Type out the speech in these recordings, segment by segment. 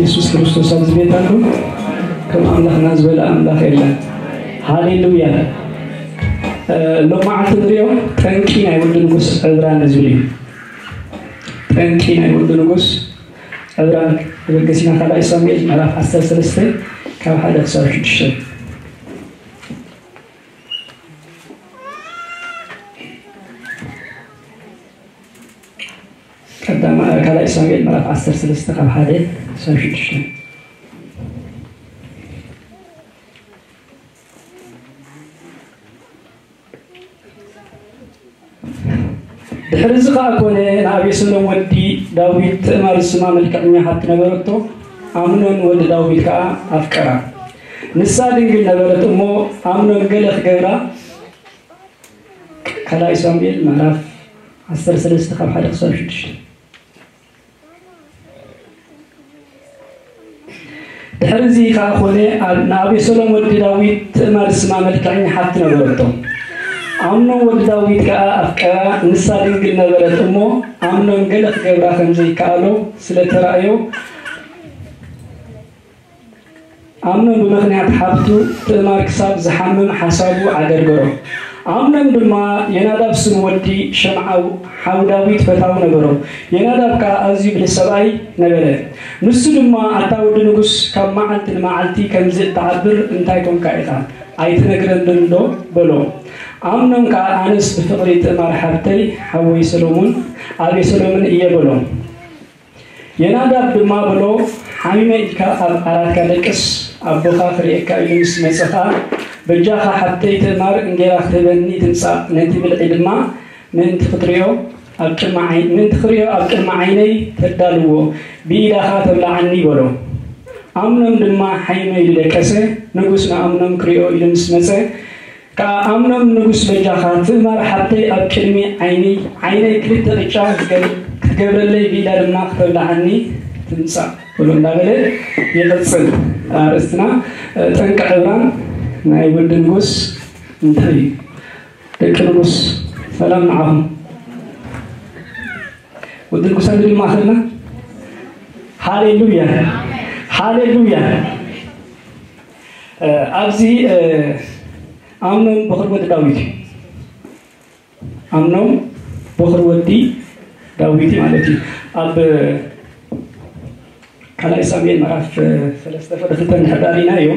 የሱስ ክርስቶስ ኣብዚ ቤት ኣሎ። ከም ኣምላኽና ዝበለ ኣምላኽ የለን። ሃሌሉያ። እ፣ ሎማዓንቲ ንሪኦ ጠንቂ ናይ ወዲ ንጉስ ዕብራን ዝብል እዩ። ጠንቂ ናይ ወዲ ንጉስ ዕብራን። ተበገሲና ካልኣይ ሳሙኤል ምዕራፍ ዓሰርተ ሰለስተ ካብ ሓደ ክሳብ ሽዱሽተ። ቀዳማ ካልኣይ ሳሙኤል ምዕራፍ ዓሰርተ ሰለስተ ካብ ሓደ ክሳብ ሽዱሽተ። ድሕሪ እዚ ኸኣ ኮነ፣ ንኣቤሴሎም ወዲ ዳዊት ትእማር ዝስማ መልክዐኛ ሓብቲ ነበረቶ፣ ኣምኖን ወዲ ዳዊት ከኣ ኣፍቀራ። ንሳ ድንግል ነበረት እሞ፣ ኣምኖን ገለ ክገብራ። ካልኣይ ሳሙኤል ምዕራፍ ዓሰርተ ሰለስተ ካብ ሓደ ክሳብ ሽዱሽተ። ድሕሪ እዚ ከኣ ኮነ፣ ኣብ-፣ ንኣቤሴሎም ወዲ ዳዊት ትእማር ዝስማ መልክዐኛ ሓብቲ ነበረቶ። ኣምኖን ወዲ ዳዊት ከኣ ኣፍቀራ፣ ንሳ ድንግል ነበረት እሞ፣ ኣምኖን ገለ ክገብራ ከም ዘይከኣሎ ስለ ተራእዮ፣ ኣምኖን ብምኽንያት ሓብቱ ትእማር ክሳብ ዝሓምም ሓሳቡ ዓገርገሮ። ኣምኖን ድማ የናዳብ ስም ወዲ ሸምዓ ሓው ዳዊት ፈታዊ ነበሮ። የናዳብ ከኣ ኣዝዩ ብልህ ሰብኣይ ነበረ። ንሱ ድማ፣ ኣታ ወዲ ንጉስ፣ ካብ መዓልቲ ንመዓልቲ ከምዚ እትዓብር እንታይ ኮንካ ኢኻ? ኣይትነግረንን ዶ? በሎ። ኣምኖን ከኣ፣ ኣነስ ብፍቕሪ ትእማር ሓብተይ፣ ሓወይ ሰሎሙን፣ ኣቤሴሎምን እየ በሎ። የናዳብ ድማ በሎ፣ ሓሚመ ኢልካ ኣብ ዓራትካ ደቅስ፣ ኣቦኻ ክርእየካ ኢሉ ምስ መጸ ኸኣ፣ በጃኻ ሓብተይ ትእማር እንጌራ ክትህበኒ ትምጻእ፣ ነቲ ብልዒ ድማ ምእንቲ ክትርእዮ ኣብ ቅድሚ ዓይ-፣ ምእንቲ ክርእዮ ኣብ ቅድሚ ዓይነይ ተዳልዎ፣ ብኢዳ ኸኣ ተብልዓኒ በሎ። ኣምኖን ድማ ሓይመ ኢሉ ደቀሰ። ንጉስ ንኣምኖን ክርእዮ ኢሉ ምስ መጸ ከኣ፣ ኣምኖን ንጉስ፣ በጃኻ ትእማር ሓብተይ ኣብ ቅድሚ ዓይኒ፣ ዓይነይ ክልተ ቅጫ ክትገብ-፣ ክትገብረለይ፣ ብኢዳ ድማ ክተብልዓኒ ትምጻእ በሎ እንዳበለ ይቕጽል። ኣርእስትና፣ እ፣ ጠንቂ ዕብራን ናይ ወዲ ንጉስ እንታይ እዩ? ደቂ ንጉስ፣ ሰላም ንዓኹም። ወዲ ንጉስ ኣሎ ድማ ኣኸልና። ሃሌሉያ፣ ሃሌሉያ። እ፣ ኣብዚ፣ እ፣ ኣምኖን በኹሪ ወዲ ዳዊት እዩ። ኣምኖን በኹሪ ወዲ ዳዊት ማለት እዩ። ኣብ ካልኣይ ሳሙኤል ምዕራፍ ሰለስተ ፍቕዲ ክልተ እንድሕር ዳኣ ርኢናዮ፣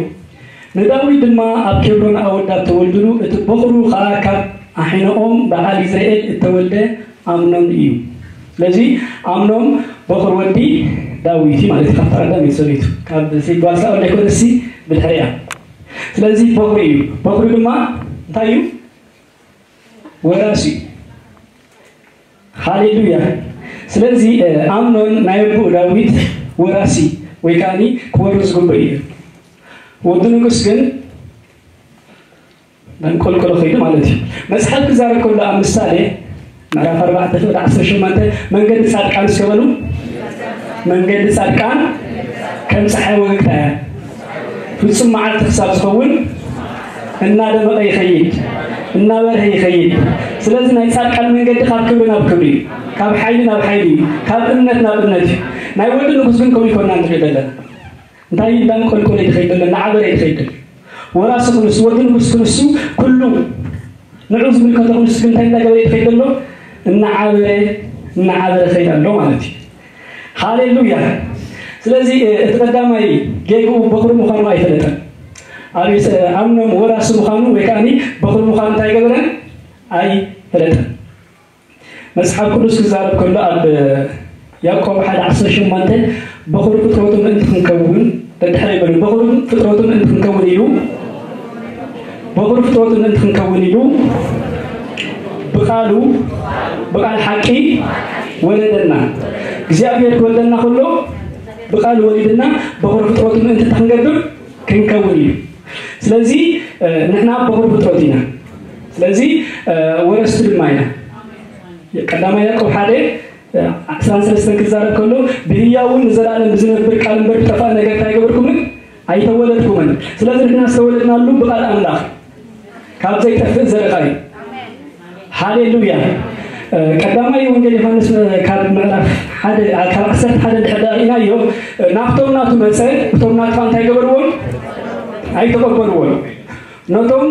ንዳዊት ድማ ኣብ ኬብሮን ኣወዳት ተወልድሉ፣ እቲ በኹሩ ኸኣ ካብ ኣሒኖኦም በዓል ይዝርኤል እተወልደ ኣምኖን እዩ። ስለዚ ኣምኖን በኹር ወዲ ዳዊት እዩ ማለት እዩ። ካብታ ቀዳመይቲ ሰበይቱ፣ ካብ ጓል ሳኦል ኣይኮነሲ፣ ብድሕሪያ። ስለዚ በኹሪ እዩ። በኹሪ ድማ እንታይ እዩ? ወራሲ እዩ። ሃሌሉያ። ስለዚ፣ እ፣ ኣምኖን ናይ ኣቦኡ ዳዊት ወራሲ ወይ ከኣኒ ክወርስ ዝግብኦ እዩ። ወዲ ንጉስ ግን እንዳንቆልቆለ ኸይዱ ማለት እዩ። መጽሓፍ ክዛረብ ከሎ ኣብ ምሳሌ ምዕራፍ ኣርባዕተ ፍቕዲ ዓሰርተ ሸሞንተ፣ መንገዲ ጻድቃን እስከ በሉ፣ መንገዲ ጻድቃን ከም ጸሓይ ወገግታ እያ። ፍጹም መዓልቲ ክሳብ ዝኸውን እናደመቐ ይኸይድ፣ እናበርሀ ይኸይድ። ስለዚ ናይ ጻድቃን መንገዲ ካብ ክብሪ ናብ ክብሪ እዩ፣ ካብ ሓይሊ ናብ ሓይሊ እዩ፣ ካብ እምነት ናብ እምነት እዩ። ናይ ወዲ ንጉስ ግን ከምኡ ይኮና ንሪኦ ዘለና። እንታይ እንዳንቆልቆለ ይኸይድ ዘሎ፣ እናዓበረ ይኸይድ ዘሎ። ወራሲ ክንሱ፣ ወዲ ንጉስ ክንሱ፣ ኩሉ ንዑ ዝምልከቶ ክንሱ ግን እንታይ እንዳገበረ ይኸይድ ዘሎ? እናዓበረ፣ እናዓበረ ይኸይድ ኣሎ ማለት እዩ። ሃሌሉያ። ስለዚ፣ እ፣ እቲ ቀዳማይ ጌግኡ በኹሪ ምዃኑ ኣይፈለጠን። ኣብ የስ-፣ ኣምኖም ወራሲ ምዃኑ ወይ ከኣኒ በኹሪ ምዃኑ እንታይ ገበረ? ኣይፈለጠን። መጽሓፍ ቅዱስ ክዛረብ ከሎ ኣብ ያዕቆብ ሓደ ዓሰርተ ሸሞንተ፣ በኹሪ ፍጥረቱ ምእንቲ ክንከውን፣ ደድሕረ ይበሉ፣ በኹሪ ፍጥረቱ ምእንቲ ክንከውን ኢሉ፣ በኹሪ ፍጥረቱ ምእንቲ ክንከውን ኢሉ፣ ብቓሉ፣ ብቓል ሓቂ ወለደና። እግዚኣብሔር ክወልደና ከሎ፣ ብቓሉ ወሊድና፣ በኹሪ ፍጥረቱ ምእንቲ ክንገብር ክንከውን እዩ። ስለዚ፣ እ፣ ንሕና በኹሪ ፍጥረት ኢና። ስለዚ፣ እ፣ ወረስቲ ድማ ኢና። ቀዳማይ ያዕቆብ ሓደ፣ እ፣ ዕስራን ሰለስተን ክዛረብ ከሎ፣ ብህያውን ንዘለኣለም ብዝነብር ቃል እምበር ብጠፋእ ነገር እንታይ ኣይገበርኩምን? ኣይተወለድኩምን። ስለዚ ንሕና ዝተወለድናሉ ብቃል ኣምላኽ፣ ካብ ዘይጠፍእ ዘርእኻ እዩ። ሃሌሉያ። እ፣ ቀዳማይ ወንጌል ዮሃንስ፣ እ፣ ካብ ምዕራፍ ሓደ፣ እ፣ ካብ ዓሰርተ ሓደ እንድሕር ደኣ ኢናዮ። ናብቶም ናቱ መጸ፣ እቶም ናቱ እንታይ ገበርዎም? ኣይተቐበልዎን። ነቶም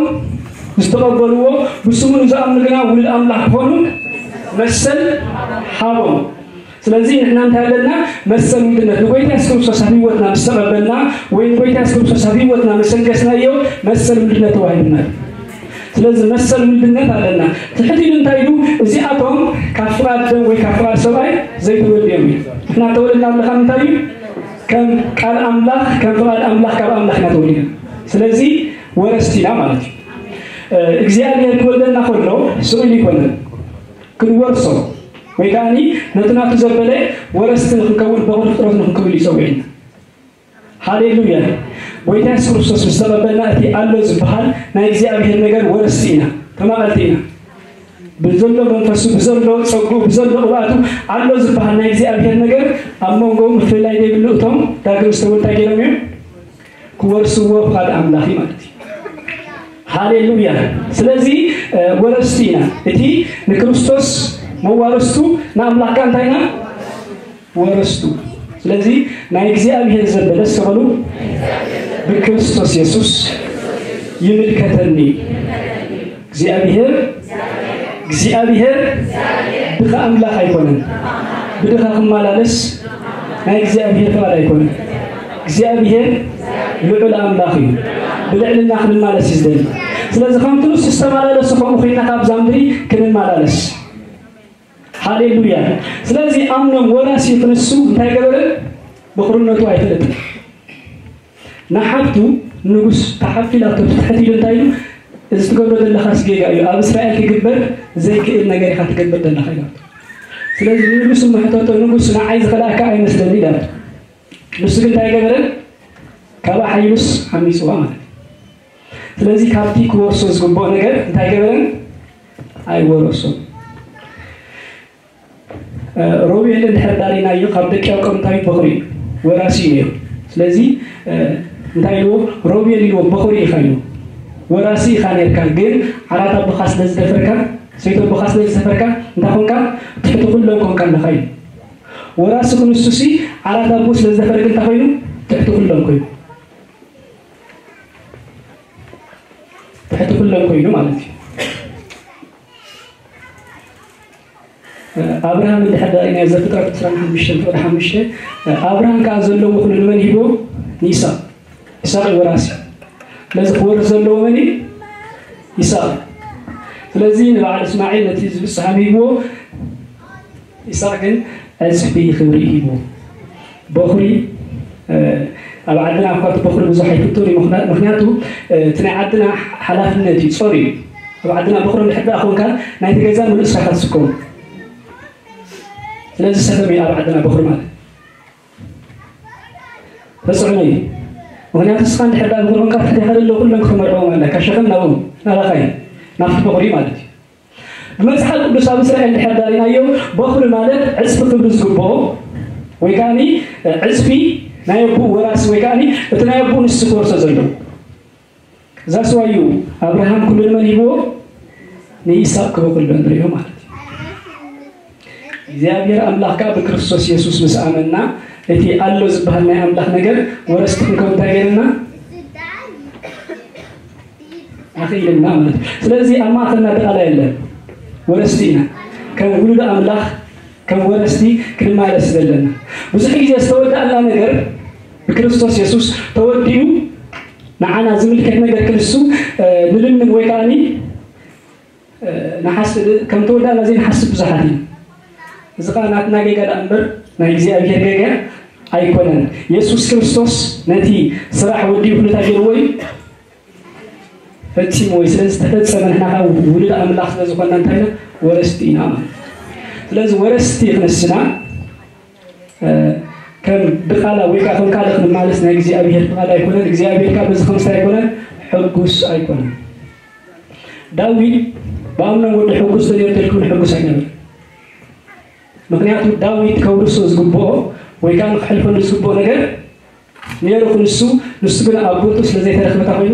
ዝተቐበልዎ፣ ብስሙ ንዝኣምኑ ግና ውሉድ ኣምላኽ ክኾኑ መሰል ሃቦም። ስለዚ ንሕና እንታይ ኣለና? መሰል ውልድነት። ንጎይታ የሱስ ክርስቶስ ኣብ ህይወትና ምስ ተቐበልና ወይ ንጎይታ የሱስ ክርስቶስ ኣብ ህይወትና ምስ ኣንገስናዮ፣ መሰል ውልድነት ተዋሂቡና። ስለዚ መሰል ውልድነት ኣለና። ትሕት ኢሉ እንታይ ኢሉ? እዚኣቶም ካብ ፍቓድ ደም ወይ ካብ ፍቓድ ሰብኣይ ዘይተወልዱ እዮም። ንሕና ተወለድና ኣለኻ ምንታይ እዩ? ከም ቃል ኣምላኽ፣ ከም ፍቓድ ኣምላኽ፣ ካብ ኣምላኽ ኢና ተወሊድና። ስለዚ ወረስቲ ኢና ማለት እዩ። እግዚኣብሔር ክወልደና ከሎ ስቕ ኢሉ ኣይኮነን። ክንወርሶ ወይ ከዓኒ ነቲ ናቱ ዘበለ ወረስቲ ንክንከውን፣ በኹሪ ፍጥረት ንክንከውን እዩ ጸዊዕና። ሃሌሉያ። ጎይታ የሱስ ክርስቶስ ምስ ተቐበልና፣ እቲ ኣሎ ዝበሃል ናይ እግዚኣብሔር ነገር ወረስቲ ኢና፣ ተማቐልቲ ኢና። ብዘሎ መንፈሱ፣ ብዘሎ ጸጉኡ፣ ብዘሎ ቅብኣቱ ኣሎ ዝበሃል ናይ እግዚኣብሔር ነገር ኣብ መንጎ ምፍልላይ ዘይብሉ እቶም ዳግም ዝተወልዳ ገይሮም እዮም ክወርስዎ ፍቓድ ኣምላኽ እዩ ማለት እዩ። ሃሌሉያ። ስለዚ፣ እ፣ ወረስቲ ኢና። እቲ ንክርስቶስ መዋርስቱ ንኣምላኽካ እንታይ ኢና? ወረስቱ። ስለዚ ናይ እግዚኣብሔር ዘበለ፣ እስከ በሉ፣ ብክርስቶስ የሱስ ይምልከተኒ። እግዚኣብሔር፣ እግዚኣብሔር ድኻ ኣምላኽ ኣይኮነን። ብድኻ ክመላለስ ናይ እግዚኣብሔር ፍቓድ ኣይኮነን። እግዚኣብሔር ልዑል ኣምላኽ እዩ። ብልዕልና ክንመላለስ እዩ ዝደሊ። ስለዚ ከምቲ ንሱ ዝተመላለሰ ከምኡ ኮይንና ካብዛ ምድሪ ክንመላለስ። ሃሌሉያ። ስለዚ ኣምኖም ወራሲ ክንሱ እንታይ ገበረ? በኹርነቱ ኣይፈለጥን። ንሓብቱ ንጉስ ተሓፊላቶ ትሕት ኢሉ እንታይ ኢሉ? "እዚ ትገብሮ ዘለኻስ ጌጋ እዩ። ኣብ እስራኤል ክግበር ዘይክእል ነገር ኢኻ ትገብር ዘለኻ" ኢላቶ። ስለዚ ንጉስ እሞ ሕተቶ፣ "ንጉስ ንዓይ ዝኸልኣካ ኣይመስለኒ" ኢላቶ። ንሱ ግን እንታይ ገበረ? ካብ ሓይሉስ ዓሚጽዋ ማለት እዩ። ስለዚ ካብቲ ክወርሶ ዝግብኦ ነገር እንታይ ገበረን? ኣይወረሶን። እ፣ ሮቤል እንድሕር ዳሪናዮ ካብ ደቂ ያዕቆብ እንታይ በኹሪ እዩ? ወራሲ እዩ ነይሩ። ስለዚ፣ እ፣ እንታይ ኢልዎ? ሮቤል ኢልዎ፣ በኹሪ ኢኻ ኢልዎ። ወራሲ ኢኻ ነይርካ፣ ግን ዓራት ኣቦኻ ስለ ዝደፈርካ፣ ሰይቲ ኣቦኻ ስለ ዝደፈርካ፣ እንታይ ኮንካ? ትሕቲ ኩሎም ኮንካ ኣለኻ ኢሉ። ወራሲ ክንሱሲ ዓራት ኣቦ ስለ ዝደፈረ ግን እንታይ ኮይኑ? ትሕቲ ኩሎም ኮይኑ። ትሕቲ ኩሎም ኮይኑ ማለት እዩ። ኣብርሃም እንድሕር ዳኣ ናይ ዘፍጥረት ዕስራን ሓሙሽተን ፍቕዲ ሓሙሽተ፣ ኣብርሃም ከኣ ዘለዎ ኩሉ ንመን ሂቦ? ንይስሐቅ። ይስሐቅ እዩ ወራሲ። ስለዚ ክወርስ ዘለዎ መን እዩ? ይስሐቅ። ስለዚ ንበዓል እስማዒል ነቲ ዝብጽሕ ሃብ ሂብዎ፣ ይስሐቅ ግን ዕጽፊ ክብሪ ሂብዎ። በኹሪ፣ እ፣ ኣብ ዓድና እኳ እቲ በኹሪ ብዙሕ ኣይፍቶን እዩ። ምኽንያ-፣ ምኽንያቱ፣ እ፣ እቲ ናይ ዓድና ሓላፍነት እዩ፣ ጾር እዩ። ኣብ ዓድና በኹሪ እንድሕር ደኣ ኾንካ፣ ናይቲ ገዛ ምሉእ ንስኻ ትስከሞ። ስለዚ ሰፈም እዩ ኣብ ዓድና በኹሪ ማለት። ተጽዕኖ እዩ። ምኽንያቱ ንስኻ እንድሕር ደኣ በኹሪ ኾንካ፣ ትሕቴኻ ዘለዉ ኩሎም ክትመርዖም ኣለካ። ሸኸም ናብኦም፣ ናባኻ እዩ። ናብቲ በኹሪ ማለት እዩ። ብመጽሓፍ ቅዱስ ኣብ እስራኤል እንድሕር ዳሪናዮ፣ በኹሪ ማለት ዕጽፊ ክብሪ ዝግብኦ፣ ወይ ከኣኒ ዕጽፊ ናይ ኣቦኡ ወራሲ፣ ወይ ከኣኒ እቲ ናይ ኣቦኡ ንሱ ክወርሶ ዘለዎ። እዛ ስዋ እዩ ኣብርሃም ኩሉ ንመን ሂብዎ? ንይስሐቅ ክበኩሎ ንሪኦ ማለት እዩ። እግዚኣብሔር ኣምላኽ ከኣ ብክርስቶስ የሱስ ምስ ኣመንና፣ እቲ ኣሎ ዝበሃል ናይ ኣምላኽ ነገር ወረስቲ ክንከውን እንታይ ገይርና? ኣኽኢልና ማለት እዩ። ስለዚ ኣብ ማእከልና ድቓላ የለን። ወረስቲ ኢና። ከም ውሉድ ኣምላኽ፣ ከም ወረስቲ ክንመላለስ ዘለና። ብዙሕ ግዜ ዝተወድኣና ነገር ብክርስቶስ የሱስ ተወዲኡ ንዓና ዝምልከት ነገር ክንሱ፣ እ፣ ንልምን ወይ ከኣኒ፣ እ፣ ንሓስ-፣ ከም ተወዳእና ዘይንሓስብ ብዙሓት ኢና። እዚ ኸኣ ናትና ጌጋ ደኣ እምበር ናይ እግዚኣብሔር ጌጋ ኣይኮነን። የሱስ ክርስቶስ ነቲ ስራሕ ወዲኡ ኩሉ እንታይ ገይርዎ እዩ? ፈጺምዎ እዩ። ስለ ዝተፈጸመ ንሕና ኸኣ ውሉድ ኣምላኽ ስለ ዝኾንና እንታይ ኢና? ወረስቲ ኢና ማለት እዩ። ስለዚ ወረስቲ ክንስና፣ እ፣ ከም ድቓላ ወይ ከኣ ከም ካልእ ክንማለስ ናይ እግዚኣብሔር ፍቓድ ኣይኮነን። እግዚኣብሔር ከኣ በዚ ከምስታይ ኣይኮነን፣ ሕጉስ ኣይኮነን። ዳዊት ብኣምኖን ወዲ ሕጉስ ተነይሩ ተልክም ሕጉስ ኣይነበረን። ምኽንያቱ ዳዊት ከውርሶ ዝግብኦ ወይ ከኣ ንክሕልፈሉ ዝግብኦ ነገር ነይሩ ክንሱ፣ ንሱ ግን ኣብ ቦትኡ ስለ ዘይተረኽበ እንታይ ኮይኑ?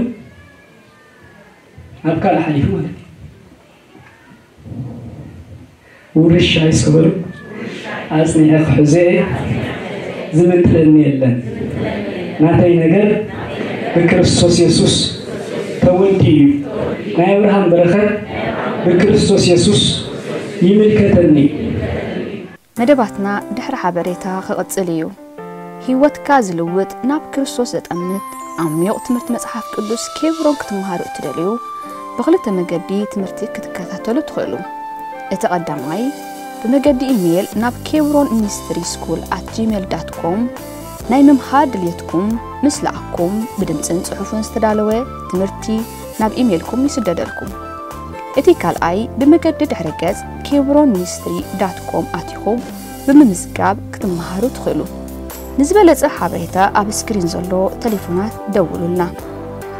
ናብ ካልእ ሓሊፉ ማለት እዩ። ውርሻይ እስከ በሉ፣ ኣጽኒዐ ክሕዞ እየ። ዝምንጥለኒ የለን። ናተይ ነገር ብክርስቶስ የሱስ ተወዲኡ እዩ። ናይ ኣብርሃም በረኸት ብክርስቶስ የሱስ ይምልከተኒ። መደባትና ድሕሪ ሓበሬታ ክቕጽል እዩ። ህይወትካ ዝልውጥ፣ ናብ ክርስቶስ ዘጠምት ዓሚቕ ትምህርቲ መጽሓፍ ቅዱስ ኬብሮን ክትመሃሩ እትደልዩ፣ ብኽልተ መገዲ ትምህርቲ ክትከታተሉ ትኽእሉ። እቲ ቀዳማይ፣ ብመገዲ ኢሜይል ናብ ኬብሮን ሚኒስትሪ ስኩል ኣት ጂሜል ዳት ኮም ናይ ምምሃር ድልየትኩም ምስ ለኣኩም ብድምፅን ፅሑፍን ዝተዳለወ ትምህርቲ ናብ ኢሜይልኩም ይስደደልኩም። እቲ ካልኣይ ብመገዲ ድሕረ ገፅ ኬብሮን ሚኒስትሪ ዳት ኮም ኣቲኹም ብምምዝጋብ ክትመሃሩ ትኽእሉ። ንዝበለፀ ሓበሬታ ኣብ ስክሪን ዘሎ ቴሌፎናት ደውሉልና።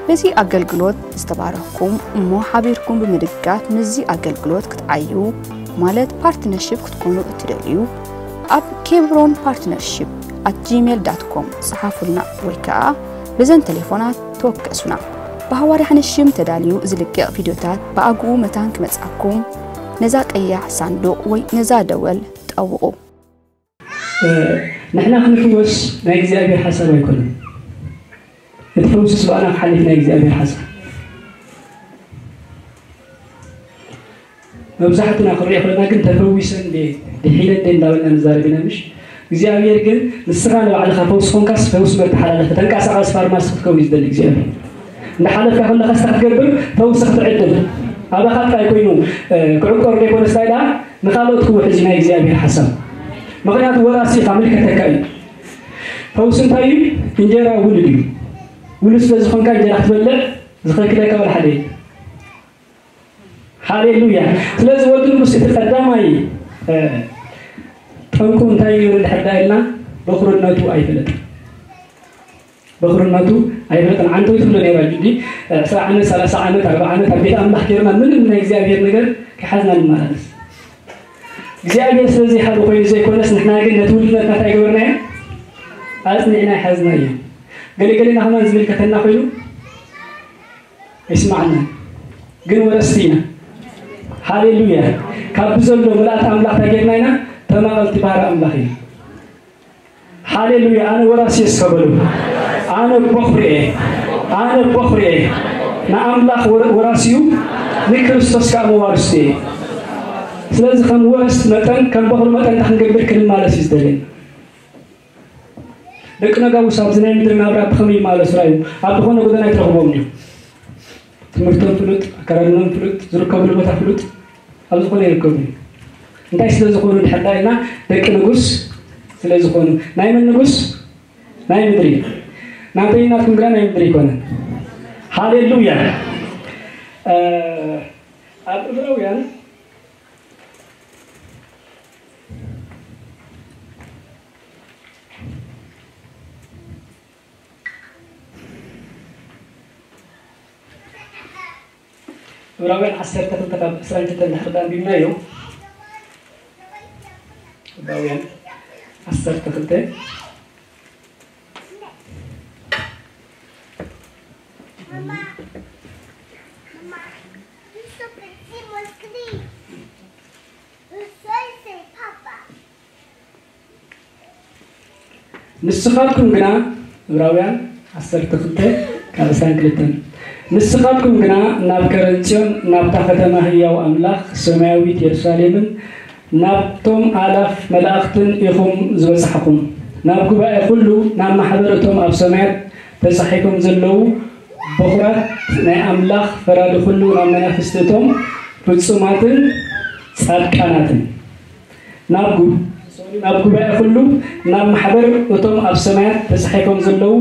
በዚ ኣገልግሎት ዝተባረኽኩም እሞ ሓቢርኩም ብምድጋፍ ምስዚ ኣገልግሎት ክትዓዩ ማለት ፓርትነርሺፕ ክትኮኑ እትደልዩ ኣብ ኬብሮን ፓርትነርሺፕ ኣት ጂሜል ዳት ኮም ጸሓፉልና ወይ ከኣ በዘን ቴሌፎናት ተወከሱና። ብሃዋርያ ሓንሽም ተዳልዩ ዝልቀቕ ቪድዮታት ብኣግኡ መታን ክመጻኩም ነዛ ቀያሕ ሳንዱቕ ወይ ነዛ ደወል ጠውቑ። ንሕና ክንፍወስ ናይ እግዚኣብሔር ሓሳብ ኣይኮነን። እቲ ፈውስስ ብኣና ክሓልፍ ናይ እግዚኣብሔር ሓሳብ። መብዛሕትና ክንሪኦ ከለና ግን ተፈዊሰ እንዴ ድሒነ እንዴ እንዳበልና ንዛረብ ኢና ምሽ እግዚኣብሔር ግን ንስኻ ንባዕልኻ ፈውስ ኾንካስ ፈውስ መተሓላለፊ ተንቀሳቐስ ፋርማሲ ክትከውን እዩ ዝደሊ እግዚኣብሔር። እንዳሓለፍካ ከለኻ ስታ ክትገብር ፈውሲ ክትዕድል ኣባኻ ጥራይ ኮይኑ ክዕቆር ዘይኮነ ስታይ ደኣ ንኻልኦት ክውሕዝ እዩ ናይ እግዚኣብሔር ሓሳብ። ምኽንያቱ ወራሲ ኢኻ ምልከተካ እዩ። ፈውሲ እንታይ እዩ? እንጀራ ውሉድ እዩ። ውሉድ ስለ ዝኾንካ እንጀራ ክትበልዕ ዝኸልክለካ ወላ ሓደ የለን። ሃሌሉያ። ስለዚ ወዲ ንጉስ እቲ ቀዳማይ ጠንቁ እንታይ እዩ እንድሕር ዳ ኢልና በኹርነቱ ኣይፈለጥን። በኹርነቱ ኣይፈለጥን። ዓንተው ትብሎ ነይራ ጁዲ ዕስራ ዓመት ሰላሳ ዓመት ኣርባ ዓመት ኣብ ቤት ኣምላኽ ጌርና ምንም ናይ እግዚኣብሔር ነገር ከሓዝና ንመላለስ። እግዚኣብሔር ስለዚ ይሃሉ ኮይኑ ዘይኮነስ ንሕና ግን ነቲ ውልድነትና እንታይ ገበርናዮ? ኣጽኒዕና ይሓዝናዮ። ገለገለና ከማን ዝምልከተና ኮይኑ ኣይስማዓናን ግን ወረስቲ ኢና። ሃሌሉያ። ካብ ብዘሎ ምልኣት ኣምላኽ እንታይ ጌርና ኢና? ተማቐልቲ ባህሪ ኣምላኽ ኢና። ሃሌሉያ። ኣነ ወራሲ እየ እስከ በሉ። ኣነ ቦኽሪ እየ። ኣነ ቦኽሪ እየ። ንኣምላኽ ወራሲኡ ንክርስቶስ ከዓ መዋርስቲ እየ። ስለዚ ከም ወረስቲ መጠን ከም ቦኽሪ መጠን እንታይ ክንገብር ክንማለስ እዩ ዝደለየና። ደቂ ነጋውስ ኣብዚ ናይ ምድሪ ናብራ ብኸመይ ይማለሱ ራዩ ኣብ ዝኾነ ጎደና ኣይትረኽቦም እዩ። ትምህርቶም ፍሉጥ፣ ኣከዳድኖም ፍሉጥ፣ ዝርከብሉ ቦታ ፍሉጥ ኣብ ዝኾነ ይርከቡ እዩ። እንታይ ስለ ዝኾኑ ድሕር ዳይና ደቂ ንጉስ ስለ ዝኾኑ ናይ መን ንጉስ ናይ ምድሪ ናተይ ናትኩም ግና ናይ ምድሪ ይኮነን። ሃሌሉያ። ኣብ እብራውያን ዕብራውያን ዓሰርተ ክልተ ካብ ዕስራን ክልተን እንድሕር ዳ ኣንቢብናዮ፣ ዕብራውያን ዓሰርተ ክልተ ንስኻትኩም ግና፣ ዕብራውያን ዓሰርተ ክልተ ካብ ዕስራን ክልተን፣ ንስኻትኩም ግና ናብ ከረን ጽዮን፣ ናብታ ከተማ ህያው ኣምላኽ፣ ሰማያዊት የሩሳሌምን ናብቶም ኣላፍ መላእኽትን ኢኹም ዝበጻሕኩም። ናብ ጉባኤ ኩሉ፣ ናብ ማሕበር እቶም ኣብ ሰማያት ተጻሒፎም ዘለዉ በኹራት ናይ ኣምላኽ ፈራዲ ኩሉ፣ ናብ መናፍስቲ እቶም ፍጹማትን ጻድቃናትን። ናብ ጉ-፣ ናብ ጉባኤ ኩሉ፣ ናብ ማሕበር እቶም ኣብ ሰማያት ተጻሒፎም ዘለዉ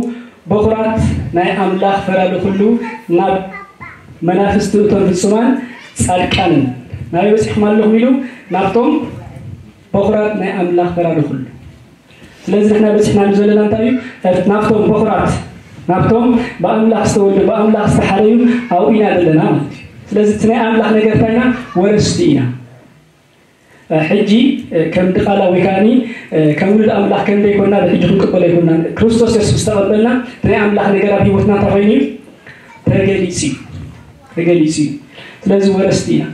በኹራት ናይ ኣምላኽ ፈራዲ ኩሉ፣ ናብ መናፍስቲ እቶም ፍጹማን ጻድቃንን። ናበይ በጺሕኩም ኣለኹም ኢሉ? ናብቶም በኹራት ናይ ኣምላኽ ፈራዲ ኩሉ። ስለዚ ንሕና በጺሕናሉ ዘለና እንታይ እዩ? ናብቶም በኹራት፣ ናብቶም ብኣምላኽ ዝተወልዱ፣ ብኣምላኽ ዝተሓረዩ ኣብኡ ኢና ዘለና ማለት እዩ። ስለዚ እቲ ናይ ኣምላኽ ነገር እንታይ ኢና? ወረስቲ ኢና። ሕጂ ከም ድቓላ ወይ ከዓኒ ከም ውሉድ ኣምላኽ ከም ዘይኮና ብሕጂ ክንቅበሎ ኣይኮናን። ክርስቶስ የሱስ ዝተቐበልና ናይ ኣምላኽ ነገር ኣብ ህይወትና እንታይ ኮይኑ እዩ? ተገሊጹ እዩ። ተገሊጹ እዩ። ስለዚ ወረስቲ ኢና።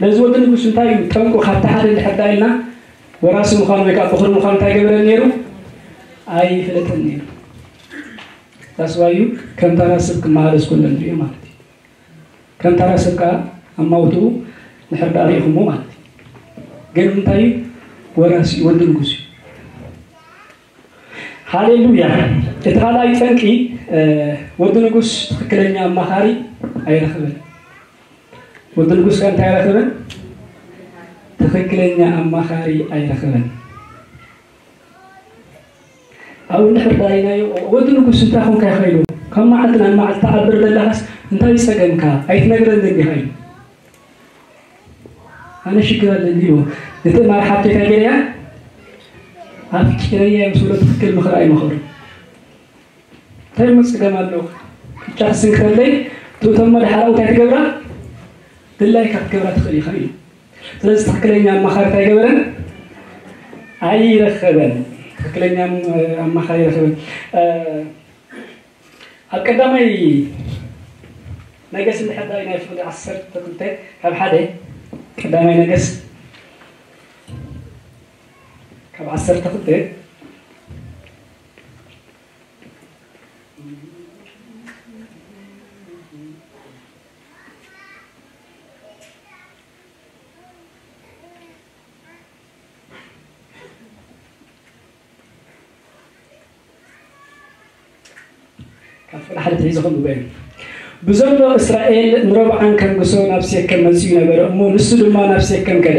ነዚ ወዲ ንጉስ እንታይ እዩ ጠንቁ? ካብቲ ሓደ እንድሕር ዳ ኢልና ወራሲ ምዃኑ ወይ ከዓ ፍቕሪ ምዃኑ እንታይ ገበረ ነይሩ? ኣይፍለጥን ነይሩ። ዳስዋዩ ከም ተራ ሰብ ክመሃረስ ከሎ ንሪኦ ማለት እዩ። ከም ተራ ሰብ ከዓ ኣማውትኡ ንሕር ዳኣ ርኢኹሞ ማለት እዩ። ግን እንታይ እዩ? ወራሲ እዩ፣ ወዲ ንጉስ እዩ። ሃሌሉያ። እቲ ካልኣይ ጠንቂ፣ ወዲ ንጉስ ትኽክለኛ ኣማኻሪ ኣይረኽብን። ወዲ ንጉስ ከ እንታይ ኣይረኽብን? ትኽክለኛ ኣማኻሪ ኣይረኽብን። ኣብኡ ንሕር ዳይናዮ፣ ወዲ ንጉስ እንታይ ኮንካ ኢኻ ኢሉ፣ ካብ መዓልቲ ናብ መዓልቲ ትዓብር ዘለኻስ እንታይ ጸገምካ? ኣይትነግረንን ዲኻ ኢሉ። ኣነ ሽግር ኣለኒ ኢሉ። እቲ ማር ሓብቲ እንታይ ገይረያ? ኣፍቂረያ ምስ በሎ ትኽክል ምኽሪ ኣይመኸሩ። እንታይ እሞ ጸገም ኣለዎ? ቅጫ ክስንክተለይ ትእቶሞ ድሓር ኣብኡ እንታይ ትገብራ? ድላይካ ክትገብራ ትኽእል ኢኻ ኢሉ። ስለዚ ትኽክለኛ ኣማኻሪ እንታይ ገበረን? ኣይረኸበን። ትኽክለኛ ኣማኻሪ ኣይረኸበን። ኣብ ቀዳማይ ነገስ እንድሕር ዳኣ ናይ ፍቕዲ ዓሰርተ ክልተ ካብ ሓደ ቀዳማይ ነገስ ካብ ዓሰርተ ክልተ ካብ ፍቕዲ ሓደ ትሒዘ ከምኡ በለ። ብዘሎ እስራኤል ንሮብዓም ከንግሶ ናብ ሴከም መጺኡ ነበረ እሞ፣ ንሱ ድማ ናብ ሴከም ከደ።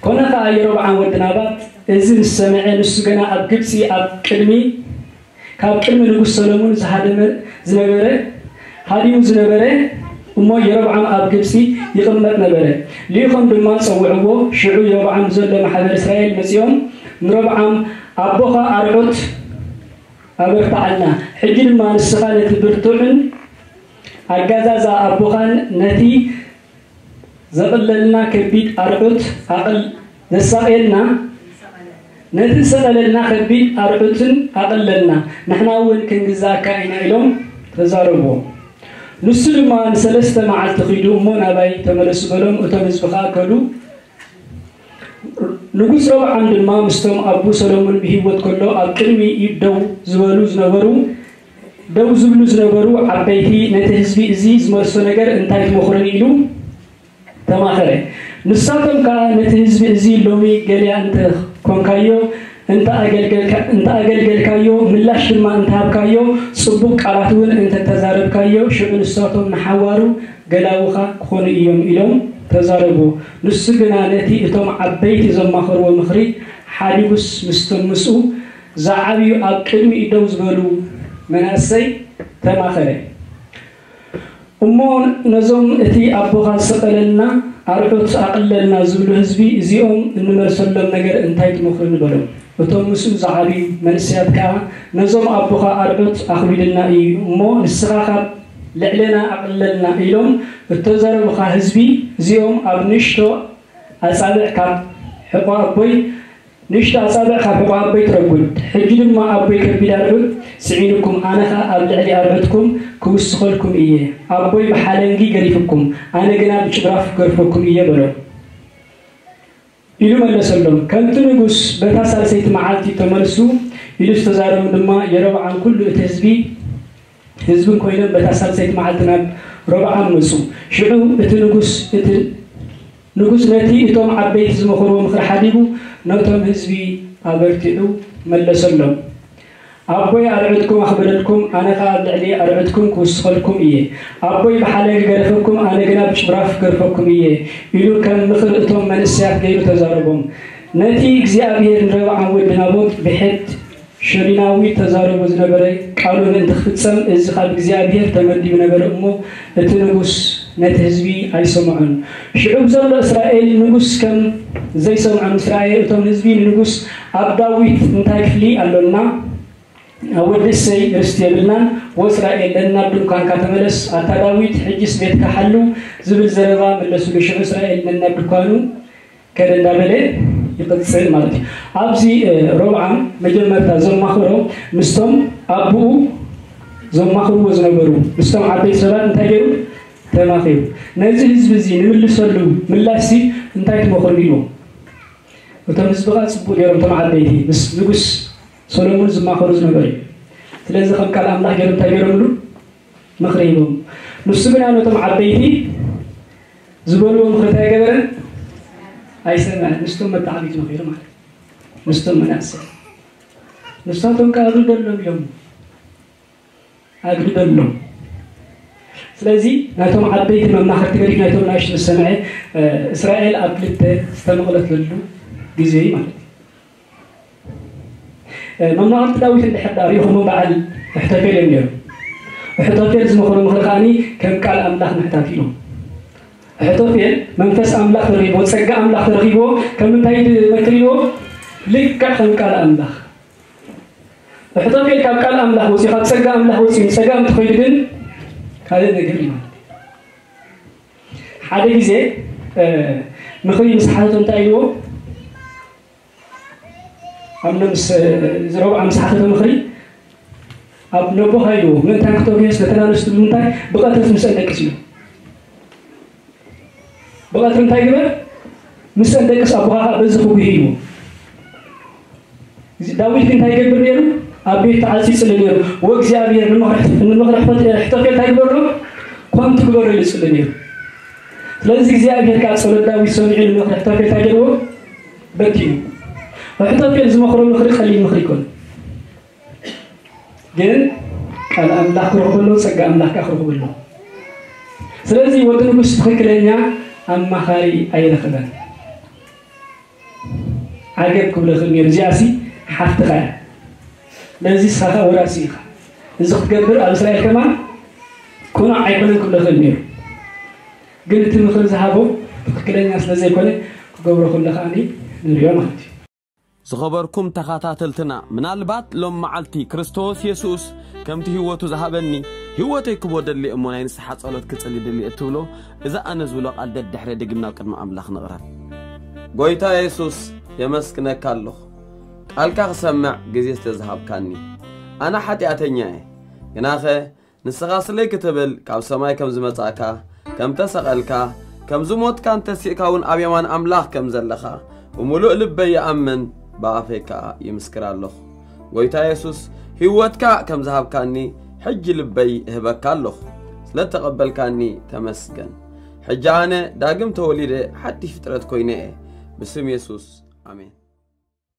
ኮነ ኸኣ የሮብዓም ወዲ ናባጥ እዚ ምስ ሰምዐ፣ ንሱ ገና ኣብ ግብጺ ኣብ ቅድሚ ካብ ቅድሚ ንጉስ ሰሎሞን ዝሃደመ ዝነበረ፣ ሃዲሙ ዝነበረ እሞ፣ የሮብዓም ኣብ ግብጺ ይቕመጥ ነበረ። ልኢኾም ድማ ጸውዕዎ። ሽዑ የሮብዓም ዘሎ ማሕበር እስራኤል መጺኦም ንሮብዓም፣ ኣቦኻ ኣርዑት ኣበርትዓልና፣ ሕጂ ድማ ንስኻ ነቲ ብርቱዕን ኣጋዛዛ ኣቦኻን ነቲ ዘቕለልና ከቢድ ኣርዑት ኣቕል-፣ ዘሳቕየልና፣ ነቲ ዝሰቐለልና ከቢድ ኣርዑትን ኣቕለልና፣ ንሕና እውን ክንግዛእካ ኢና ኢሎም ተዛረብዎ። ንሱ ድማ ንሰለስተ መዓልቲ ኺዱ እሞ ናባይ ተመለሱ በሎም። እቶም ህዝቢ ኸኣ ከዱ። ንጉስ ሮብዓም ድማ ምስቶም ኣቡ ሰሎሞን ብህይወት ከሎ ኣብ ቅድሚ ኢድ ደው ዝበሉ ዝነበሩ፣ ደው ዝብሉ ዝነበሩ ዓበይቲ፣ ነቲ ህዝቢ እዚ ዝመልሶ ነገር እንታይ ትመኽሩኒ ኢሉ ተማኸረ። ንሳቶም ከኣ ነቲ ህዝቢ እዚ ሎሚ ገሊያ እንተ ኾንካዮ፣ እንተ ኣገልገልካ-፣ እንተ ኣገልገልካዮ፣ ምላሽ ድማ እንተ ሃብካዮ፣ ጽቡቕ ቃላት እውን እንተ ተዛረብካዮ፣ ሽዑ ንሳቶም ንሓዋሩ ገላውኻ ክኾኑ እዮም ኢሎም ተዛረቡ። ንሱ ግና ነቲ እቶም ዓበይቲ ዘማኸርዎ ምኽሪ ሓዲጉስ ምስቶም ምስኡ ዝዓብዩ ኣብ ቅድሚኡ ደው ዝበሉ መናእሰይ ተማኸረ። እሞ ነዞም እቲ ኣቦኻ ዝሰቐለልና ኣርዑት ኣቕለልና ዝብሉ ህዝቢ እዚኦም እንመልሰሎም ነገር እንታይ ትመኽሩኒ በሎም። እቶም ምስኡ ዝዓብዩ መንእሰያት ከኣ ነዞም ኣቦኻ ኣርዑት ኣኽቢድልና እዩ እሞ ንስኻ ካብ ልዕሌና ኣቕልለልና ኢሎም እተዛረቡኻ ህዝቢ እዚኦም ኣብ ንእሽቶ ኣጻብዕ ካብ ሕቖ ኣቦይ ንእሽቶ ኣጻብዕ ካብ ሕቖ ኣቦይ ትረጉድ። ሕጂ ድማ ኣቦይ ከቢድ ኣርዑት ጽዒኑኩም፣ ኣነ ኸኣ ኣብ ልዕሊ ኣርዑትኩም ክውስኸልኩም እየ። ኣቦይ ብሓለንጊ ገሪፉኩም፣ ኣነ ግና ብጭራፍ ክገርፈኩም እየ በሎ። ኢሉ መለሰሎም። ከምቲ ንጉስ በታ ሳልሰይቲ መዓልቲ ተመልሱ ኢሉ ዝተዛረቦም ድማ የሮብዓም ኩሉ እቲ ህዝቢ ህዝብን ኮይኖም በታ ሳልሰይቲ መዓልቲ ናብ ሮብዓም መጹ። ሽዑ እቲ ንጉስ፣ እቲ ንጉስ ነቲ እቶም ዓበይቲ ዝመኸርዎ ምኽሪ ሓዲጉ ነቶም ህዝቢ ኣበርቲዑ መለሰሎም። ኣቦይ ኣርዑትኩም ኣኽበደልኩም፣ ኣነ ኸኣ ኣብ ልዕሊ ኣርዑትኩም ክውስኸልኩም እየ። ኣቦይ ብሓለንጊ ገረፈኩም፣ ኣነ ግና ብጭራፍ ክገርፈኩም እየ ኢሉ ከም ምኽሪ እቶም መንእሰያት ገይሩ ተዛረቦም። ነቲ እግዚኣብሄር ንሮብዓም ወዲ ናቦት ብሕት ሸሊናዊ ተዛረቦ ዝነበረ ቃሉ ምእንቲ ክፍጸም፣ እዚ ካብ እግዚኣብሄር ተመዲቡ ነበረ እሞ፣ እቲ ንጉስ ነቲ ህዝቢ ኣይሰምዖን። ሽዑ ብዘሎ እስራኤል ንጉስ ከም ዘይሰምዖ ምስ ረኣየ፣ እቶም ህዝቢ ንንጉስ፣ ኣብ ዳዊት እንታይ ክፍሊ ኣሎና? ኣብ ወዲ እሴይ ርስቲ የብልናን። ወእስራኤል ነናብ ድንኳንካ ተመለስ። ኣታ ዳዊት፣ ሕጂስ ቤትካ ሓሉ ዝብል ዘረባ መለሱሉ። ሽዑ እስራኤል ነናብ ድኳኑ ከደ እንዳበለ ይቕጽል ማለት እዩ። ኣብዚ፣ እ፣ ሮብዓም መጀመርታ ዘማኽሮ ምስቶም ኣቦኡ ዘማኽርዎ ዝነበሩ ምስቶም ዓበይቲ ሰባት እንታይ ገይሩ? ተማኺሩ። ነዚ ህዝቢ እዚ ንምልሰሉ ምላሽሲ እንታይ ትመኽሩኒ ኢልዎም። እቶም ህዝቢ ከዓ ፅቡቅ ገይሮም፣ እቶም ዓበይቲ ምስ ንጉስ ሰሎሞን ዝማኸሩ ዝነበሩ እዩ። ስለዚ ከም ቃል ኣምላኽ ገይሮም እንታይ ገይሮምሉ? ምኽሪ ሂቦም። ንሱ ግና ነቶም ዓበይቲ ዝበልዎ ምኽሪ እንታይ ገበረ? ኣይሰምዐን። ምስቶም መተዓቢት መኺሩ ማለት እዩ። ምስቶም መናእሰይ ንሳቶም ከዓ ኣግልደሎም ኢሎም ኣግልደሎም። ስለዚ ናይቶም ዓበይቲ መማኽርቲ ገዲፍ ናይቶም ናእሽቱ ዝሰምዐ፣ እስራኤል ኣብ ክልተ ዝተመቕለትሉ ግዜ እዩ ማለት እዩ። መማኽርቲ ዳዊት እንድሕር ዳኣ ሪኢኹሞ በዓል ኣሕቶፌል እዮም ነይሮም። ኣሕቶፌል ዝመኽሮ ምኽሪ ከዓኒ ከም ቃል ኣምላኽ ምሕታት ኢሎም። ኣሕቶፌል መንፈስ ኣምላኽ ተረኺብዎ፣ ጸጋ ኣምላኽ ተረኺብዎ፣ ከም እንታይ ዝመክር ኢልዎ? ልክዕ ከም ቃል ኣምላኽ። ኣሕቶፌል ካብ ቃል ኣምላኽ ወፂኡ፣ ካብ ጸጋ ኣምላኽ ወፂኡ ንጸጋ እንትኸይዱ ግን ካልእ ነገር እዩ ማለት እዩ። ሓደ ግዜ ምኽሪ ምስ ሓተቶ እንታይ ኢልዎ? ኣብ ነምስ ዝረብዓ ምስ ሓተተ ምኽሪ ኣብ ነቦኻ ኢልዎ ምእንታን ክተጉየስ ነተናነስቱ ብምንታይ ብቐትሪ ምስ ኣንደቅስ ኢሉ። ብቐትሪ እንታይ ግበር? ምስ ኣንደቅስ ኣቦኻ ከዓ በዚ ክጉሂ ኢልዎ። እዚ ዳዊት ግን እንታይ ይገብር ነይሩ? ኣብ ቤት ተዓፂ ይፅሊ ነይሩ። ወእግዚኣብሔር ንምኽሪ ሕቶፌል እንታይ ግበሮ? ኮንቱ ግበሮ ኢሉ ይፅሊ ነይሩ። ስለዚ እግዚኣብሔር ከዓ ፀሎት ዳዊት ሰሚዑ ንምኽሪ ሕቶፌል እንታይ ገይርዎ? በቲኑ። ሕቶፌል ዝመኽሮ ምኽሪ ቀሊል ምኽሪ ይኮን። ግን ቃል ኣምላኽ ክረኽበሎ ጸጋ ኣምላኽ ከዓ ክረኽበሎ። ስለዚ ወዲ ንጉስ ትኽክለኛ ኣማኻሪ ኣይረኽበን። ዓገብ ክብሎ ይኽእል ነይሩ። እዚኣሲ ሓፍትኻ እያ። ስለዚ ንስኻ ወራሲ ኢኻ። እዚ ክትገብር ኣብ እስራኤል ከማን ቅኑዕ ኣይኮነን ክብሎ ይኽእል ነይሩ። ግን እቲ ምኽሪ ዝሃቦ ትኽክለኛ ስለ ዘይኮነ ክገብሮ ከሎ ከዓኒ ንሪኦ ማለት እዩ። ዝኸበርኩም ተኸታተልትና፣ ምናልባት ሎም መዓልቲ ክርስቶስ የሱስ ከምቲ ህይወቱ ዝሃበኒ ህይወተይ ክቦ ደሊ እሞ ናይ ንስሓ ጸሎት ክጽሊ ድሊ እትብሎ፣ እዚ ኣነ ዝብሎ ቃል ደድሕረ ድግምና ኣብ ቅድሚ ኣምላኽ ንቕረብ። ጎይታ የሱስ፣ የመስግነካ ኣለኹ፣ ቃልካ ክሰምዕ ግዜ ስለ ዝሃብካኒ። ኣነ ሓጢኣተኛ እየ፣ ግናኸ ንስኻ ስለይ ክትብል ካብ ሰማይ ከም ዝመጻእካ፣ ከም ተሰቐልካ፣ ከም ዝሞትካን ተሲእካ እውን ኣብ የማን ኣምላኽ ከም ዘለኻ ብምሉእ ልበይ ይኣምን፣ ብኣፈይ ከኣ ይምስክር ኣለኹ። ጎይታ የሱስ፣ ህይወትካ ከም ዝሃብካኒ ሕጂ ልበይ እህበካ ኣለኹ። ስለ እተቐበልካኒ ተመስገን። ሕጂ ኣነ ዳግም ተወሊደ ሓድሽ ፍጥረት ኮይነ እየ። ብስም የሱስ፣ ኣሜን።